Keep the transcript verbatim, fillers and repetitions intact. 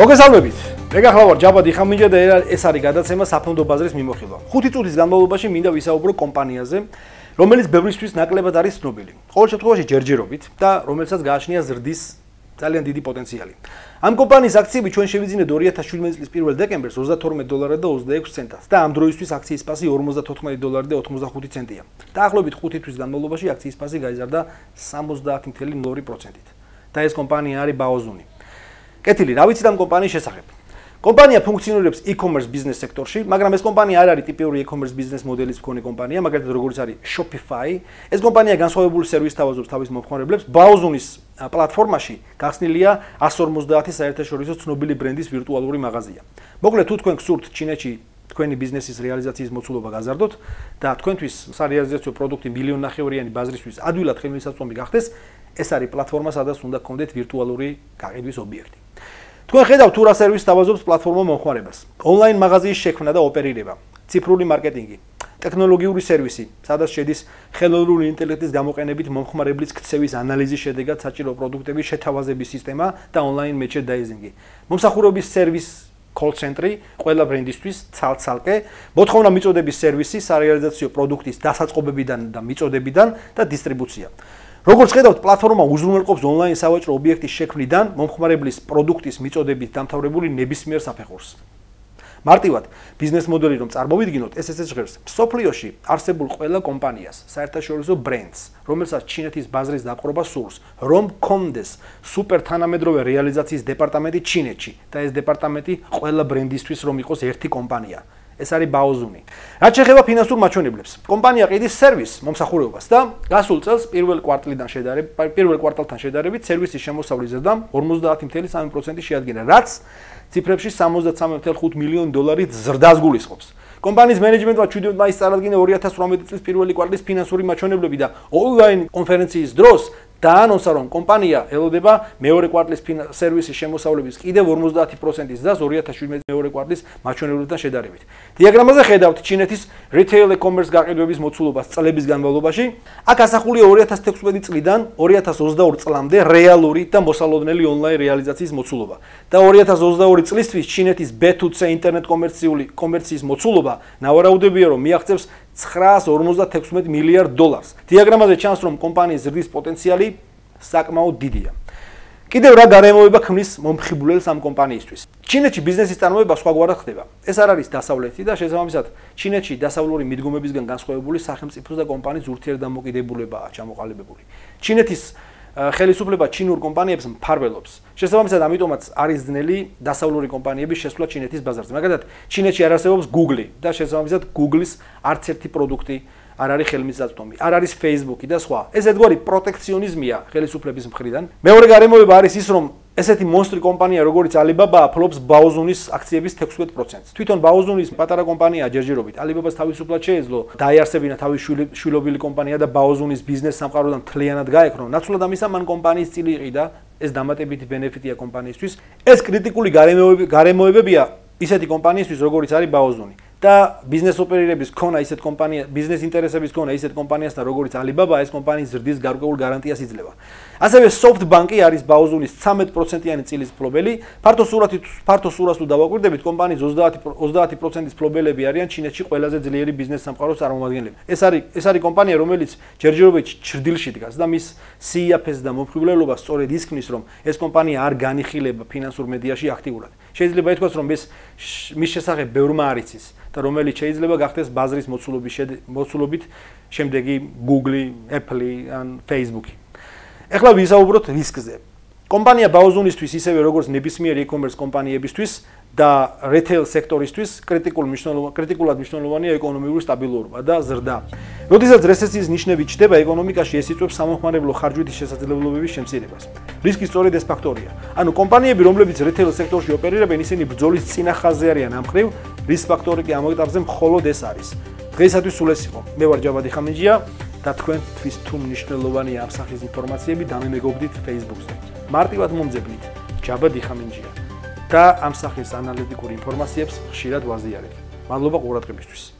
მოგესალმებით. მე გახლავ ვარ ჯაბა დიხამინჯა და ეს არის გადაცემა საფონდო ბაზრის მიმოხილვა. ხუთი წუთის განმავლობაში მინდა ვისაუბრო კომპანიაზე, რომელიც ბევრისთვის ნაკლებად არის ცნობილი. ყოველ შემთხვევაში ჯერჯერობით და რომელსაც გააჩნია ზრდის ძალიან დიდი პოტენციალი. ამ კომპანიის აქციები ჩვენ შევიძინეთ ორი ათას შვიდმეტი წლის პირველ დეკემბერს ოცდათორმეტ დოლარად და ოცდაექვსი ცენტად და ამ დროისთვის აქციის ფასი ორმოცდათოთხმეტი დოლარი და ოთხმოცდახუთი ცენტია. დაახლოებით ხუთი თვის განმავლობაში აქციის ფასი გაიზარდა სამოცდაათი წუთი ნული პროცენტით. და ეს კომპანია არის ბაოზუნი. კეთილი, რა ვიცით ამ კომპანიის შესახებ? კომპანია ფუნქციონირებს e-commerce ბიზნეს სექტორში, მაგრამ ეს კომპანია არ არის ტიპიური e-commerce ბიზნეს მოდელის მქონე კომპანია, მაგალითად როგორც არის Shopify. ეს კომპანია განსხვავებული სერვისს თავაზობს თავის მომხმარებლებს. ბაოზუნის პლატფორმაში გახსნილია εκατს ორმოცდაათი საერთაშორისო ცნობილი ბრენდის ვირტუალური მაღაზია. მოკლედ, თუ თქვენ გსურთ ჩინეთში თქვენი ბიზნესის რეალიზაციის მოცულობა გაზარდოთ და თქვენთვის სარეალიზაციო პროდუქტი მილიონნახევრიანი ბაზრისთვის ადვილად ხელმისაწვდომი გახდეს, ეს არის პლატფორმა, სადაც უნდა გქონდეთ ვირტუალური გაყიდვის ობიექტი. თქვენ ხედავთ თუ რა სერვისს თავაზობს პლატფორმა მომხმარებელს. ონლაინ მაღაზიის შექმნა და ოპერირება, ციფრული მარკეტინგი, ტექნოლოგიური სერვისი, სადაც შედის ხელოვნური ინტელექტის გამოყენებით მომხმარებლის ქცევის ანალიზის შედეგად საჭირო პროდუქტების შეთავაზების სისტემა და ონლაინ merchandising-ი. მომსახურების სერვის call center-ი ყველა ბრენდისთვის ცალ-ცალკე, მოთხოვნა მიწოდების სერვისი, სარეალიზაციო პროდუქტის დასაწყობებიდან და მიწოდებიდან და დისტრიბუცია. როგორც ხედავთ, პლატფორმა უზრუნველყოფს ონლაინ სავაჭრო ობიექტის შექმნიდან მომხმარებლის პროდუქტის მიწოდებით დამთავრებული ნებისმიერ საფეხურს. მარტივად, ბიზნეს მოდელი რომ წარმოვიდგინოთ, ეს ესე ჟღერს მსოფლიოში არსებულ ყველა კომპანიას, საერთაშორისო ბრენდს, რომელსაც ჩინეთის ბაზრის დაპყრობა სურს, რომ გქონდეს სუპერ თანამედროვე რეალიზაციის დეპარტამენტი ჩინეთში და ეს დეპარტამენტი ყველა ბრენდისთვის რომ იყოს ერთი კომპანია. ეს არის ბაოზუნი. რაც შეეხება ფინანსურ მაჩვენებლებს, კომპანია ყიდის სერვისს მომსახურებას და გასულ წელს პირველ კვარტლიდან შედარებით, პირველ კვარტალთან შედარებით სერვისის შემოსავლის ზრდა ორმოცდაათი წუთი სამი პროცენტი შეადგენა, რაც ციფრებში სამოცდაცამეტ წუთი ხუთი მილიონი დოლარით ზრდას გულისხმობს. კომპანიის მენეჯმენტმა შვიდი მაისს წარადგინა ორი ათას ორმეტი წლის პირველი კვარტლის ფინანსური მაჩვენებლები და ონლაინ კონფერენციის დროს დაანონსა, რომ კომპანია ელოდება მეორე კვარტლის სერვისის შემოსავლების კიდევ ორმოცდაათი პროცენტის ზრდას ორი ათას შვიდმეტი მეორე კვარტლის მაჩვენებლებთან შედარებით. დიაგრამაზე ხედავთ ჩინეთის retail e-commerce გაყიდვების მოცულობას წლების განმავლობაში. აქ ასახულია ორი ათას თექვსმეტი წლიდან ორი ათას ოცდაორი წლამდე რეალური და მოსალოდნელი ონლაინ რეალიზაციის მოცულობა. და ორი ათას ოცდაორი წლისთვის ჩინეთის B two C ინტერნეტ კომერციული კომერციის მოცულობა ნავარაუდებია, რომ მიაღწევს ცხრაას ორმოცდათექვსმეტ მილიარდ დოლარს. დიაგრამაზე ჩანს, რომ კომპანიის ზრდის პოტენციალი საკმაოდ დიდია. კიდევ რა გარემოება ქმნის მომხიბვლელს ამ კომპანიისთვის? ჩინეთში ბიზნესის წარმოება სხვაგვარად ხდება. ეს არ არის დასავლეთი და შესაბამისად, ჩინეთში დასავლური მიდგომებისგან განსხვავებული სახელმწიფოს და კომპანიის ურთიერთდამოკიდებულებაა ჩამოყალიბებული. ჩინეთის ხელისუფლება ჩინურ კომპანიებს მფარველობს. შესაბამისად, ამიტომაც არის ძნელი დასავლური კომპანიების შესვლა ჩინეთის ბაზარზე. მაგალითად, ჩინეთში არ არსებობს Google და შესაბამისად, Google-ის არც ერთი პროდუქტი არ არის ხელმისაწვდომი, არ არის Facebook-ი და სხვა. ეს ერთგვარი პროტექციონიზმია ხელისუფლების მხრიდან. მეორე გარემოება არის ის, რომ ესეთი მონსტრი კომპანია, როგორც Alibaba, ფლობს ბაოზუნის აქციების თექვსმეტ პროცენტს. თვითონ ბაოზუნის პატარა კომპანია ჯერჯერობით Alibaba-ს თავისუფლად შეეძლო დაიარსებინა თავის შვილობილი კომპანია და ბაოზუნის ბიზნეს სამყაროდან მთლიანად გაექრო. ნაცვლად ამისა, მან კომპანიის წილი იყიდა, ეს დამატებითი ბენეფიტია კომპანიისთვის. ეს კრიტიკული გარემოებებია ისეთი კომპანიისთვის, როგორც არის ბაოზუნი. და ბიზნეს ოპერირების ქონა ისეთ კომპანია, ბიზნეს ინტერესების ქონა ისეთ კომპანიასთან, როგორც Alibaba, ეს კომპანიის ზრდის გარკვეულ გარანტიას იძლევა. ასევე SoftBank-ი არის ბაოზუნის ცხრამეტ პროცენტიანი წილის მფლობელი. ფართო სურათით, ფართო სურათს თუ დავაკვირდებით, კომპანიის ოცდაათი პროცენტის მფლობელები არიან ჩინეთში ყველაზე ძლიერი ბიზნეს სამყაროს წარმომადგენლები. ეს არის ეს არის კომპანია, რომელიც ჯერჯერობით ჭრდილში დგას და მის სიაფეს და მომხიბვლელობას სწორედ ის ქმნის, რომ ეს კომპანია არ განიხილება ფინანსურ მედიაში აქტიურად. შეიძლება ითქვას, რომ ეს მის შესახებ ბევრმა არ იცის და რომელიც შეიძლება გახდეს ბაზრის მოცულობის მოცულობით შემდეგი Google, Apple ან Facebook-ი. ეხლა ვისაუბროთ რისკზე. კომპანია ბაოზუნისთვის, ისევე როგორც ნებისმიერ e-commerce კომპანიებისთვის და retail სექტორისთვის კრიტიკულ მნიშვნელოვანი კრიტიკულად მნიშვნელოვანია ეკონომიკური სტაბილურობა და ზრდა. როდესაც რეცესიის ნიშნები ჩნდება ეკონომიკაში, ეს იწვევს სამომხმარებლო ხარჯვითის შესაძლებლობების შემცირებას. რისკი სწორედ ეს ფაქტორია. ანუ კომპანიები, რომლებიც retail სექტორში ოპერირებენ, ისინი ბრძოლის წინა ხაზზე არიან ამ მხრივ, რისკ ფაქტორი კი ამ ეტაპზე მხოლოდ ეს არის. დღეისათვის სულ ეს იყო. მე ვარ ჯაბა დიხამინჯია და თქვენთვის თუ მნიშვნელოვანია ამ სახის ინფორმაციები, დამემეგობრდით Facebook-ზე. მარტივად მომძებნით ჯაბა დიხამინჯია და ამ სახის ანალიტიკურ ინფორმაციებს ხშირად ვაზიარებ. მადლობა ყურადღებისთვის.